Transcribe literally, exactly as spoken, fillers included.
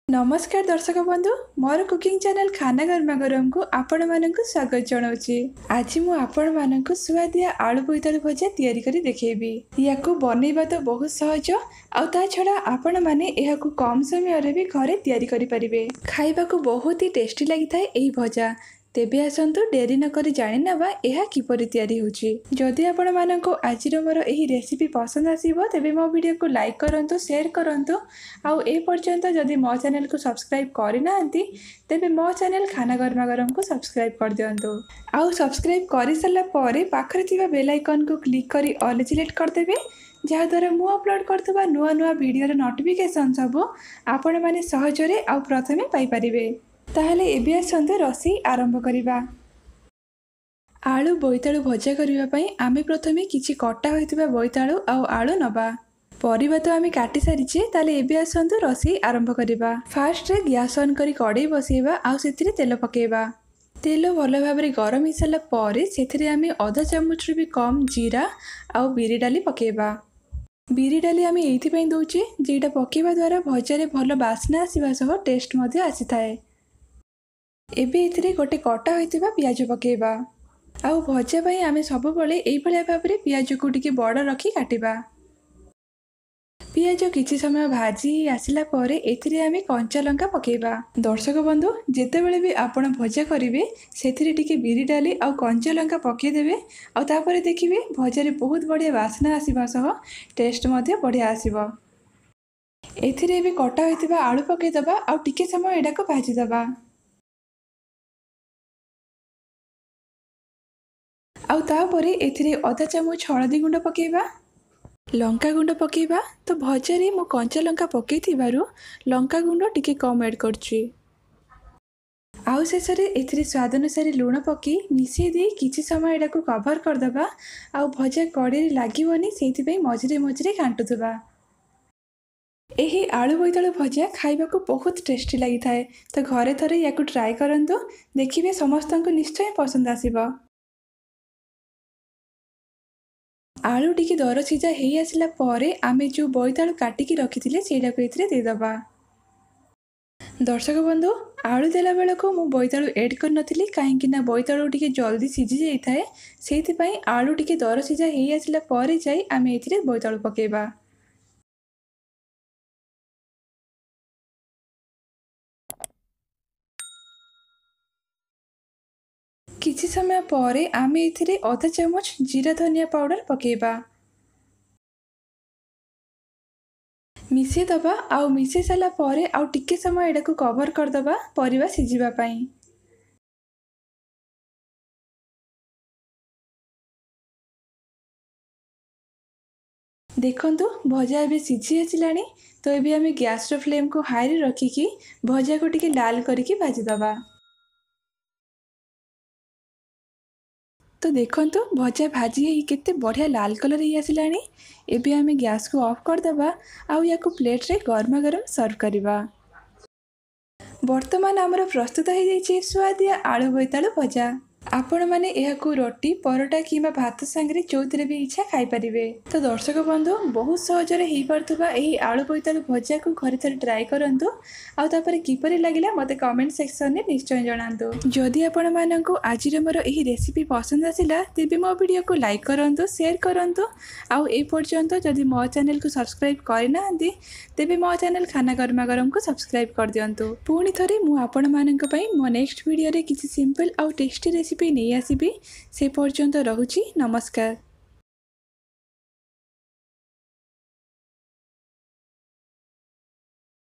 ନମସ୍କାର ଦର୍ଶକ ବନ୍ଧୁ, ମୋର କୁକିଂ ଚ୍ୟାନେଲ ଖାନା ଗରମା ଗରମକୁ ଆପଣମାନଙ୍କୁ ସ୍ୱାଗତ ଜଣାଉଛି। ଆଜି ମୁଁ ଆପଣମାନଙ୍କୁ ସୁଆଦିଆ ଆଳୁ ବୋଇତାଳୁ ଭଜା ତିଆରି କରି ଦେଖେଇବି। ୟାକୁ ବନେଇବା ତ ବହୁତ ସହଜ, ଆଉ ତା ଛଡ଼ା ଆପଣମାନେ ଏହାକୁ କମ୍ ସମୟରେ ବି ଘରେ ତିଆରି କରିପାରିବେ। ଖାଇବାକୁ ବହୁତ ହି ଟେଷ୍ଟି ଲାଗିଥାଏ ଏହି ଭଜା। ତେବେ ଆସନ୍ତୁ ଡେରି ନକରି ଜାଣିନେବା ଏହା କିପରି ତିଆରି ହେଉଛି। ଯଦି ଆପଣମାନଙ୍କୁ ଆଜିର ମୋର ଏହି ରେସିପି ପସନ୍ଦ ଆସିବ, ତେବେ ମୋ ଭିଡ଼ିଓକୁ ଲାଇକ୍ କରନ୍ତୁ, ସେୟାର କରନ୍ତୁ, ଆଉ ଏ ପର୍ଯ୍ୟନ୍ତ ଯଦି ମୋ ଚ୍ୟାନେଲକୁ ସବସ୍କ୍ରାଇବ୍ କରିନାହାନ୍ତି, ତେବେ ମୋ ଚ୍ୟାନେଲ ଖାନା ଗରମା ଗରମକୁ ସବସ୍କ୍ରାଇବ୍ କରିଦିଅନ୍ତୁ। ଆଉ ସବସ୍କ୍ରାଇବ୍ କରିସାରିଲା ପରେ ପାଖରେ ଥିବା ବେଲ୍ ଆଇକନ୍କୁ କ୍ଲିକ୍ କରି ଅଲ୍ ସିଲେକ୍ଟ କରିଦେବେ, ଯାହାଦ୍ୱାରା ମୁଁ ଅପଲୋଡ଼ କରୁଥିବା ନୂଆ ନୂଆ ଭିଡ଼ିଓର ନୋଟିଫିକେସନ୍ ସବୁ ଆପଣମାନେ ସହଜରେ ଆଉ ପ୍ରଥମେ ପାଇପାରିବେ। ତାହେଲେ ଏବେ ଆସନ୍ତୁ ରୋଷେଇ ଆରମ୍ଭ କରିବା। ଆଳୁ ବୋଇତାଳୁ ଭଜା କରିବା ପାଇଁ ଆମେ ପ୍ରଥମେ କିଛି କଟା ହୋଇଥିବା ବୋଇତାଳୁ ଆଉ ଆଳୁ ନେବା। ପରିବା ତ ଆମେ କାଟି ସାରିଛେ, ତାହେଲେ ଏବେ ଆସନ୍ତୁ ରୋଷେଇ ଆରମ୍ଭ କରିବା। ଫାର୍ଷ୍ଟରେ ଗ୍ୟାସ୍ ଅନ୍ କରି କଡ଼େଇ ବସେଇବା ଆଉ ସେଥିରେ ତେଲ ପକାଇବା। ତେଲ ଭଲ ଭାବରେ ଗରମ ହେଇସାରିଲା ପରେ ସେଥିରେ ଆମେ ଅଧା ଚାମଚରୁ ବି କମ୍ ଜିରା ଆଉ ବିରି ଡାଲି ପକାଇବା। ବିରି ଡାଲି ଆମେ ଏଇଥିପାଇଁ ଦେଉଛେ ଯେ ଏଇଟା ପକାଇବା ଦ୍ୱାରା ଭଜାରେ ଭଲ ବାସ୍ନା ଆସିବା ସହ ଟେଷ୍ଟ ମଧ୍ୟ ଆସିଥାଏ। ଏବେ ଏଥିରେ ଗୋଟେ କଟା ହୋଇଥିବା ପିଆଜ ପକାଇବା। ଆଉ ଭଜା ପାଇଁ ଆମେ ସବୁବେଳେ ଏଇଭଳିଆ ଭାବରେ ପିଆଜକୁ ଟିକେ ବଡ଼ ରଖି କାଟିବା। ପିଆଜ କିଛି ସମୟ ଭାଜି ହେଇ ଆସିଲା ପରେ ଏଥିରେ ଆମେ କଞ୍ଚା ଲଙ୍କା ପକାଇବା। ଦର୍ଶକ ବନ୍ଧୁ, ଯେତେବେଳେ ବି ଆପଣ ଭଜା କରିବେ, ସେଥିରେ ଟିକେ ବିରି ଡାଲି ଆଉ କଞ୍ଚା ଲଙ୍କା ପକାଇଦେବେ, ଆଉ ତାପରେ ଦେଖିବେ ଭଜାରେ ବହୁତ ବଢ଼ିଆ ବାସ୍ନା ଆସିବା ସହ ଟେଷ୍ଟ ମଧ୍ୟ ବଢ଼ିଆ ଆସିବ। ଏଥିରେ ଏବେ କଟା ହୋଇଥିବା ଆଳୁ ପକାଇଦେବା ଆଉ ଟିକେ ସମୟ ଏଟାକୁ ଭାଜିଦେବା। ଆଉ ତାପରେ ଏଥିରେ ଅଧା ଚାମଚ ହଳଦୀ ଗୁଣ୍ଡ ପକାଇବା, ଲଙ୍କା ଗୁଣ୍ଡ ପକାଇବା। ତ ଭଜାରେ ମୁଁ କଞ୍ଚା ଲଙ୍କା ପକାଇଥିବାରୁ ଲଙ୍କା ଗୁଣ୍ଡ ଟିକେ କମ୍ ଆଡ଼୍ କରୁଛି। ଆଉ ଶେଷରେ ଏଥିରେ ସ୍ୱାଦ ଅନୁସାରେ ଲୁଣ ପକାଇ ମିଶାଇ ଦେଇ କିଛି ସମୟ ଏଟାକୁ କଭର୍ କରିଦେବା। ଆଉ ଭଜା କଡ଼େଇରେ ଲାଗିବନି ସେଇଥିପାଇଁ ମଝିରେ ମଝିରେ ଘାଣ୍ଟୁଥିବା। ଏହି ଆଳୁ ବୋଇତାଳୁ ଭଜା ଖାଇବାକୁ ବହୁତ ଟେଷ୍ଟି ଲାଗିଥାଏ। ତ ଘରେ ଥରେ ୟାକୁ ଟ୍ରାଏ କରନ୍ତୁ, ଦେଖିବେ ସମସ୍ତଙ୍କୁ ନିଶ୍ଚୟ ପସନ୍ଦ ଆସିବ। ଆଳୁ ଟିକେ ଦର ସିଝା ହେଇ ଆସିଲା ପରେ ଆମେ ଯେଉଁ ବୋଇତାଳୁ କାଟିକି ରଖିଥିଲେ ସେଇଟାକୁ ଏଥିରେ ଦେଇଦେବା। ଦର୍ଶକ ବନ୍ଧୁ, ଆଳୁ ଦେଲା ବେଳକୁ ମୁଁ ବୋଇତାଳୁ ଏଡ଼୍ କରିନଥିଲି, କାହିଁକି ନା ବୋଇତାଳୁ ଟିକେ ଜଲ୍ଦି ସିଝି ଯାଇଥାଏ। ସେଇଥିପାଇଁ ଆଳୁ ଟିକେ ଦର ସିଝା ହେଇ ଆସିଲା ପରେ ଯାଇ ଆମେ ଏଥିରେ ବୋଇତାଳୁ ପକାଇବା। କିଛି ସମୟ ପରେ ଆମେ ଏଥିରେ ଅଧା ଚାମଚ ଜିରା ଧନିଆ ପାଉଡ଼ର ପକାଇବା, ମିଶାଇ ଦେବା। ଆଉ ମିଶାଇ ସାରିଲା ପରେ ଆଉ ଟିକେ ସମୟ ଏଟାକୁ କଭର୍ କରିଦେବା ପରିବା ସିଝିବା ପାଇଁ। ଦେଖନ୍ତୁ, ଭଜା ଏବେ ସିଝି ଆସିଲାଣି। ତ ଏବେ ଆମେ ଗ୍ୟାସ୍ର ଫ୍ଲେମ୍କୁ ହାଇରେ ରଖିକି ଭଜାକୁ ଟିକେ ଲାଲ କରିକି ଭାଜିଦେବା। ତ ଦେଖନ୍ତୁ, ଭଜା ଭାଜି ହେଇ କେତେ ବଢ଼ିଆ ଲାଲ କଲର୍ ହେଇ ଆସିଲାଣି। ଏବେ ଆମେ ଗ୍ୟାସ୍କୁ ଅଫ୍ କରିଦେବା ଆଉ ୟାକୁ ପ୍ଲେଟ୍ରେ ଗରମା ଗରମ ସର୍ଭ କରିବା। ବର୍ତ୍ତମାନ ଆମର ପ୍ରସ୍ତୁତ ହେଇଯାଇଛି ସୁଆଦିଆ ଆଳୁ ବୋଇତାଳୁ ଭଜା। ଆପଣମାନେ ଏହାକୁ ରୋଟି, ପରଟା କିମ୍ବା ଭାତ ସାଙ୍ଗରେ ଯେଉଁଥିରେ ବି ଇଚ୍ଛା ଖାଇପାରିବେ। ତ ଦର୍ଶକ ବନ୍ଧୁ, ବହୁତ ସହଜରେ ହେଇପାରୁଥିବା ଏହି ଆଳୁ ବୋଇତାଳୁ ଭଜାକୁ ଘରେ ଥରେ ଟ୍ରାଏ କରନ୍ତୁ, ଆଉ ତାପରେ କିପରି ଲାଗିଲା ମୋତେ କମେଣ୍ଟ ସେକ୍ସନରେ ନିଶ୍ଚୟ ଜଣାନ୍ତୁ। ଯଦି ଆପଣମାନଙ୍କୁ ଆଜିର ମୋର ଏହି ରେସିପି ପସନ୍ଦ ଆସିଲା, ତେବେ ମୋ ଭିଡ଼ିଓକୁ ଲାଇକ୍ କରନ୍ତୁ, ସେୟାର କରନ୍ତୁ, ଆଉ ଏ ପର୍ଯ୍ୟନ୍ତ ଯଦି ମୋ ଚ୍ୟାନେଲକୁ ସବସ୍କ୍ରାଇବ୍ କରିନାହାନ୍ତି, ତେବେ ମୋ ଚ୍ୟାନେଲ ଖାନା ଗରମା ଗରମକୁ ସବସ୍କ୍ରାଇବ୍ କରିଦିଅନ୍ତୁ। ପୁଣି ଥରେ ମୁଁ ଆପଣମାନଙ୍କ ପାଇଁ ମୋ ନେକ୍ସଟ ଭିଡ଼ିଓରେ କିଛି ସିମ୍ପଲ୍ ଆଉ ଟେଷ୍ଟି ରେସିପି ନେଇ ଆସିବି। ସେ ପର୍ଯ୍ୟନ୍ତ ରହୁଛି, ନମସ୍କାର।